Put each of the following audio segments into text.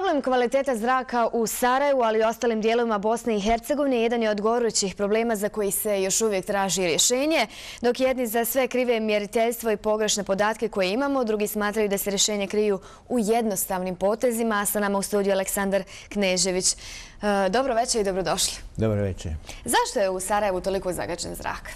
Problem kvaliteta zraka u Sarajevu, ali i ostalim dijelovima Bosne i Hercegovine, jedan je od gorućih problema za koji se još uvijek traži rješenje. Dok jedni za sve krive mjeriteljstvo i pogrešne podatke koje imamo, drugi smatraju da se rješenje kriju u jednostavnim potezima. A sa nama u studiju Aleksandar Knežević. Dobro večer i dobrodošli. Dobro večer. Zašto je u Sarajevu toliko zagađen zrak?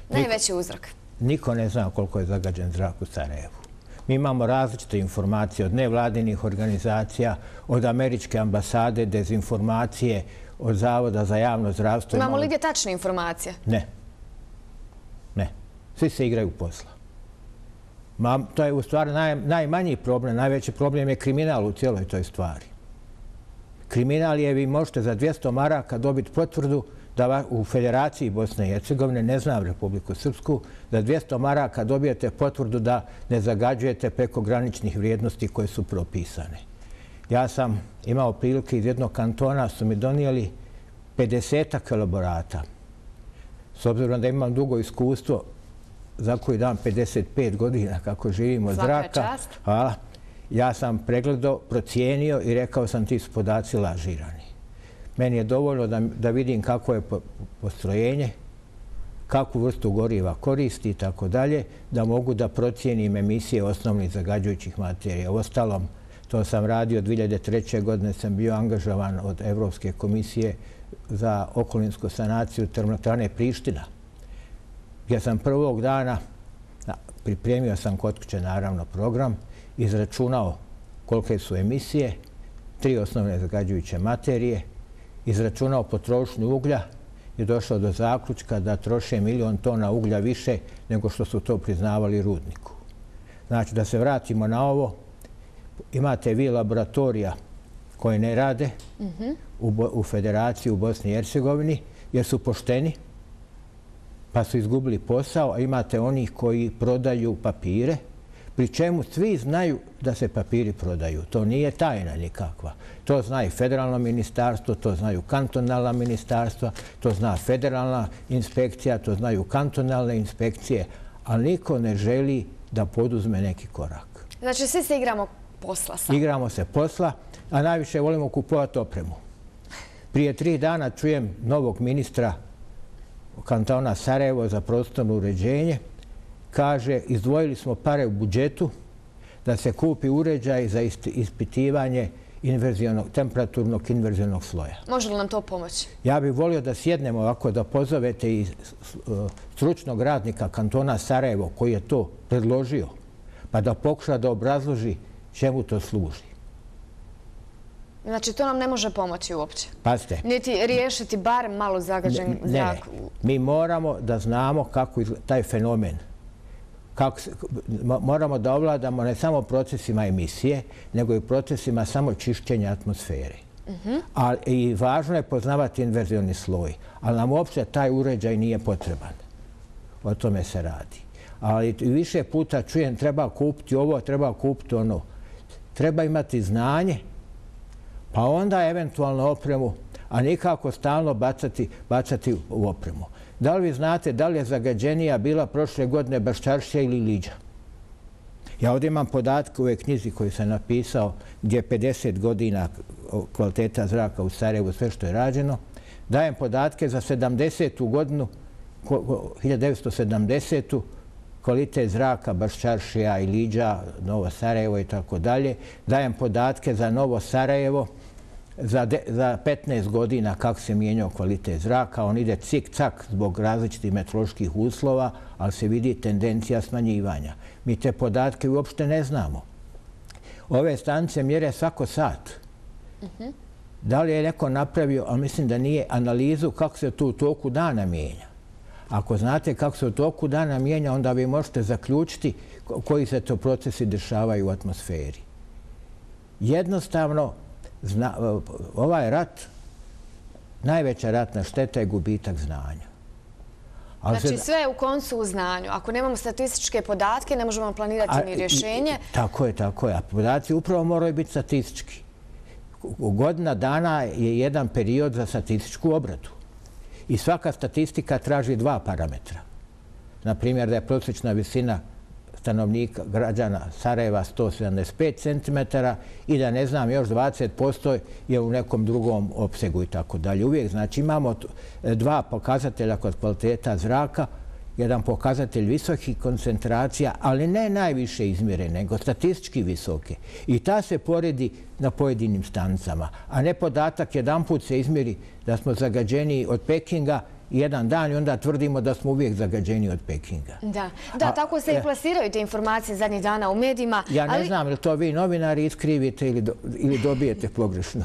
Najveći uzrok. Niko ne zna koliko je zagađen zrak u Sarajevu. Mi imamo različite informacije od nevladinih organizacija, od američke ambasade, dezinformacije, od Zavoda za javno zdravstvo. Imamo li gdje tačne informacije? Ne. Ne. Svi se igraju posla. To je u stvari najmanji problem. Najveći problem je kriminal u cijeloj toj stvari. Kriminal je, vi možete za 200 maraka dobiti potvrdu da u Federaciji Bosne i Hercegovine, ne znam Republiku Srpsku, za 200 maraka dobijete potvrdu da ne zagađujete preko graničnih vrijednosti koje su propisane. Ja sam imao prilike iz jednog kantona, su mi donijeli 50 elaborata. S obzirom da imam dugo iskustvo, za koji dam 55 godina kako živim od zraka, ja sam pregledao, procijenio i rekao sam ti su podaci lažirani. Meni je dovoljno da vidim kako je postrojenje, kakvu vrstu goriva koristi i tako dalje, da mogu da procijenim emisije osnovnih zagađujućih materija. Uostalom, to sam radio 2003. godine, sam bio angažovan od Evropske komisije za okolinsku sanaciju termoelektrane Priština, gdje sam prvog dana, pripremio sam kod kuće naravno program, izračunao kolike su emisije, 3 osnovne zagađujuće materije, izračunao potrošnju uglja i došao do zaključka da troše 1 milion tona uglja više nego što su to priznavali rudniku. Znači, da se vratimo na ovo, imate vi laboratorija koje ne rade u Federaciji u Bosni i Hercegovini jer su pošteni pa su izgubili posao, a imate onih koji prodaju papire, pri čemu svi znaju da se papiri prodaju. To nije tajna nikakva. To zna i federalno ministarstvo, to znaju kantonalna ministarstva, to zna federalna inspekcija, to znaju kantonalne inspekcije, ali niko ne želi da poduzme neki korak. Znači, svi se igramo posla sad? Igramo se posla, a najviše volimo kupovati opremu. Prije 3 dana čujem novog ministra kantona Sarajevo za prostorno uređenje. Kaže, izdvojili smo pare u budžetu da se kupi uređaj za ispitivanje temperaturnog inverzionog sloja. Može li nam to pomoći? Ja bih volio da sjednemo ovako, da pozovete i stručnog radnika kantona Sarajevo koji je to predložio, pa da pokuša da obrazloži čemu to služi. Znači, to nam ne može pomoći uopće? Pazite. Niti riješiti bar malo zagađen zrak? Ne. Mi moramo da znamo kako izgleda taj fenomen. Moramo da ovladamo ne samo procesima emisije, nego i procesima samo čišćenja atmosfere. I važno je poznavati inverzioni sloj, ali nam uopće taj uređaj nije potreban. O tome se radi. Ali više puta čujem treba kupiti ovo, treba kupiti ono. Treba imati znanje, pa onda eventualno opremu, a nikako stalno bacati u opremu. Da li vi znate da li je zagađenija bila prošle godine Baščaršija ili Liđa? Ja ovdje imam podatke u ovoj knjizi koju sam napisao gdje je 50 godina kvaliteta zraka u Sarajevu, sve što je rađeno. Dajem podatke za 70. godinu, 1970. kvalitet zraka Baščaršija i Liđa, Novo Sarajevo i tako dalje. Dajem podatke za Novo Sarajevo za 15 godina kako se mijenjao kvalitet zraka. On ide cik-cak zbog različitih meteoroloških uslova, ali se vidi tendencija smanjivanja. Mi te podatke uopšte ne znamo. Ove stanice mjere svako sat. Da li je neko napravio, ali mislim da nije, analizu kako se to u toku dana mijenja. Ako znate kako se u toku dana mijenja, onda vi možete zaključiti koji se to procesi dešavaju u atmosferi. Jednostavno, ovaj rat, najveća ratna šteta je gubitak znanja. Znači sve je u koncu u znanju. Ako nemamo statističke podatke, ne možemo planirati ni rješenje. Tako je, tako je. A podaci upravo moraju biti statistički. Godina dana je jedan period za statističku obradu. I svaka statistika traži 2 parametra. Naprimjer, da je prosječna visina stanovnika građana Sarajeva 175 cm i da ne znam još 20% je u nekom drugom opsegu i tako dalje. Uvijek znači imamo dva pokazatelja kod kvaliteta zraka, jedan pokazatelj visokih koncentracija, ali ne najviše izmjere, nego statistički visoke. I ta se poredi na pojedinim stanicama, a ne podatak jedanput se izmjeri da smo zagađeni od Pekinga jedan dan i onda tvrdimo da smo uvijek zagađeni od Pekinga. Da, tako se i plasiraju te informacije zadnjih dana u medijima. Ja ne znam ili to vi novinari iskrivite ili dobijete pogrešno.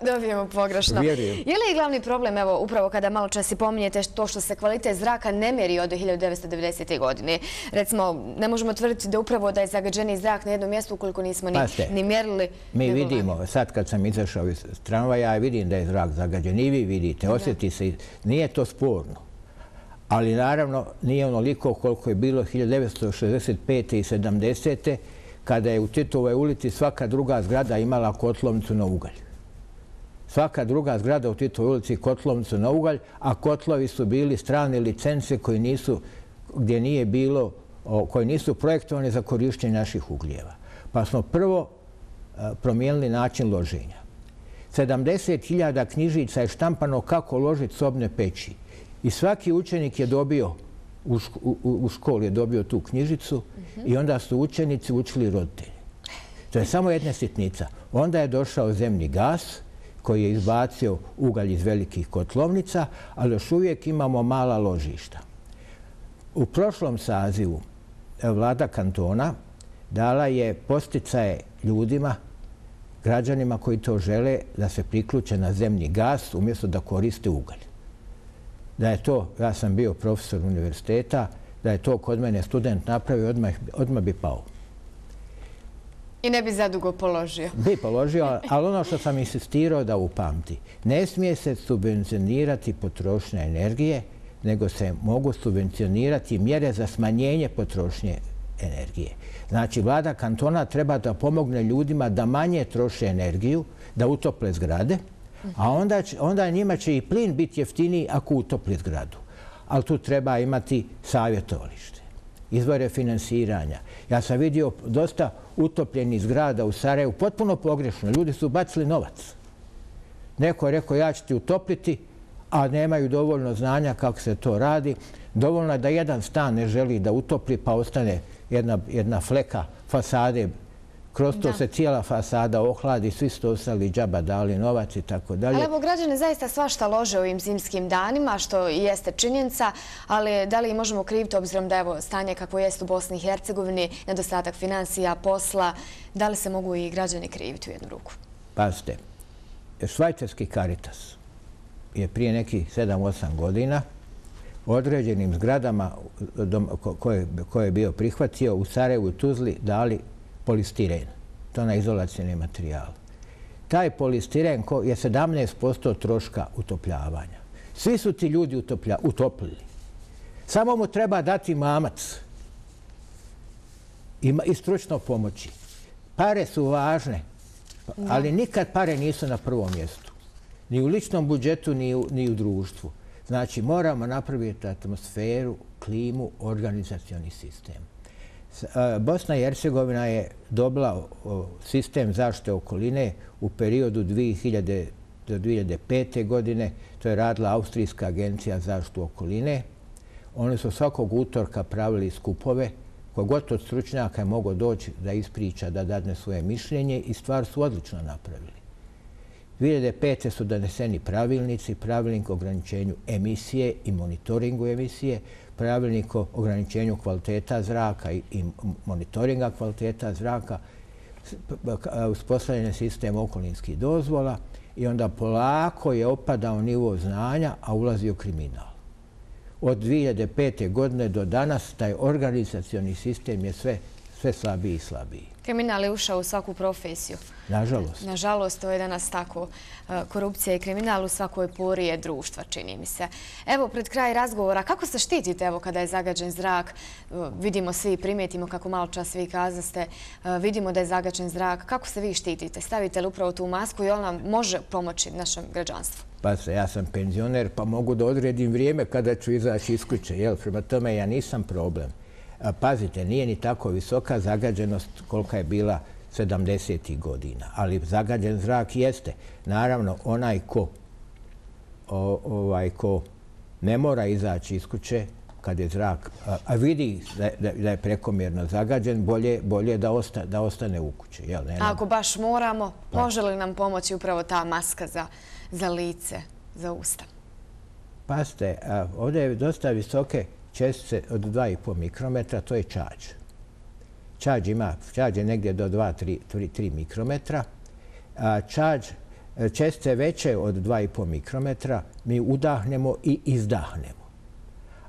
Dobijemo pogrešno. Vjerujem. Je li glavni problem, evo, upravo kada malo čas i pominjete to što se kvalitet zraka ne meri od 1990. godine? Recimo, ne možemo tvrditi da upravo da je zagađeni zrak na jednom mjestu ukoliko nismo ni mjerili. Mi vidimo, sad kad sam izašao iz tramvaja, vidim da je zrak zagađen i vi vidite, osjeti se, nije to sporno. Ali naravno nije onoliko koliko je bilo 1965. i 70. kada je u Titovoj ulici svaka druga zgrada imala kotlovnicu na ugalj. Svaka druga zgrada u Titovoj ulici kotlovnicu na ugalj, a kotlovi su bili strane licence koji nisu projektovani za korištenje naših ugljeva. Pa smo prvo promijenili način loženja. 70.000 knjižica je štampano kako ložiti sobne peći. I svaki učenik je dobio, u školi je dobio tu knjižicu i onda su učenici učili roditelji. To je samo jedna sitnica. Onda je došao zemni gas koji je izbacio ugalj iz velikih kotlovnica, ali još uvijek imamo mala ložišta. U prošlom sazivu vlada kantona dala je podsticaje ljudima, građanima koji to žele, da se priključe na zemni gas umjesto da koriste ugalj. Da je to, ja sam bio profesor univerziteta, da je to kod mene student napravio, odmah bi pao. I ne bi zadugo položio. Bi položio, ali ono što sam insistirao da upamti, ne smije se subvencionirati potrošnja energije, nego se mogu subvencionirati mjere za smanjenje potrošnje energije. Znači, vlada kantona treba da pomogne ljudima da manje troše energiju, da utople zgrade, a onda njima će i plin biti jeftiniji ako utopli zgradu. Ali tu treba imati savjetovalište, izvore finansiranja. Ja sam vidio dosta utopljenih zgrada u Sarajevu, potpuno pogrešno. Ljudi su bacili novac. Neko je rekao ja ću ti utopliti, a nemaju dovoljno znanja kako se to radi. Dovoljno je da jedan stan ne želi da utopli, pa ostane jedna fleka fasade. Kroz to se cijela fasada ohladi, svi su ostali džaba dali novac i tako dalje. Ali evo, građani zaista svašta lože ovim zimskim danima, što i jeste činjenica, ali da li možemo kriviti obzirom da je stanje kako jeste u Bosni i Hercegovini, nedostatak financija, posla, da li se mogu i građani kriviti u jednu ruku? Pazite, švajcarski Caritas je prije nekih 7-8 godina određenim zgradama koje je bio prihvatio u Sarajevu i Tuzli dali polistiren. To na izolacijni materijal. Taj polistiren je 17% troška utopljavanja. Svi su ti ljudi utoplili. Samo mu treba dati mamac i stručno pomoći. Pare su važne, ali nikad pare nisu na prvom mjestu. Ni u ličnom budžetu, ni u društvu. Znači, moramo napraviti atmosferu, klimu, organizacioni sistem. Bosna i Hercegovina je dobila sistem zaštite okoline u periodu 2000 do 2005. godine. To je radila Austrijska agencija za zaštitu okoline. Oni su svakog utorka pravili skupove. Kogod od stručnjaka je mogao doći da ispriča, da dadne svoje mišljenje i stvar su odlično napravili. 2005. su doneseni pravilnici, pravilnik o ograničenju emisije i monitoringu emisije, pravilnik o ograničenju kvaliteta zraka i monitoringa kvaliteta zraka, uspostavljen je sistem okolinskih dozvola i onda polako je opadao nivo znanja, a ulazio kriminal. Od 2005. godine do danas taj organizacioni sistem je sve slabiji i slabiji. Kriminal je ušao u svaku profesiju. Nažalost. Nažalost, to je danas tako. Korupcija i kriminal u svakoj pori je društva, čini mi se. Evo, pred kraj razgovora, kako se štitite evo kada je zagađen zrak? Vidimo svi, primijetimo kako malo čas vi kazaste, vidimo da je zagađen zrak. Kako se vi štitite? Stavite li upravo tu masku i ona može pomoći našem građanstvu? Pa se, ja sam penzioner, pa mogu da odredim vrijeme kada ću izaći iz kuće. Prema tome, ja nisam problem. Pazite, nije ni tako visoka zagađenost kolika je bila 70. godina, ali zagađen zrak jeste. Naravno, onaj ko ne mora izaći iz kuće kad je zrak, a vidi da je prekomjerno zagađen, bolje da ostane u kući. Ako baš moramo, može li nam pomoći upravo ta maska za lice, za usta? Pazite, ovdje je dosta visoke čestice od 2,5 mikrometra, to je čađ. Čađ je negdje do 2-3 mikrometra. Čestice veće od 2,5 mikrometra mi udahnemo i izdahnemo.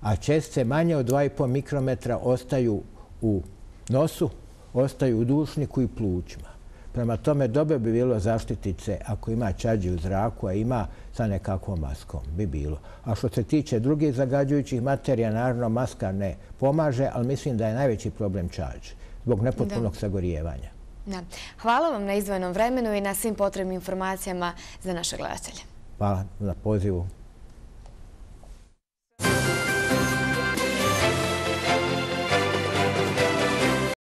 A čestice manje od 2,5 mikrometra ostaju u nosu, ostaju u dušniku i plućima. Prema tome, dobro bi bilo zaštititi se ako ima čađi u zraku, a ima sa nekakvom maskom, bi bilo. A što se tiče drugih zagađujućih materija, naravno maska ne pomaže, ali mislim da je najveći problem čađ zbog nepotpunog sagorijevanja. Hvala vam na izdvojenom vremenu i na svim potrebnim informacijama za naše gledatelje. Hvala na pozivu.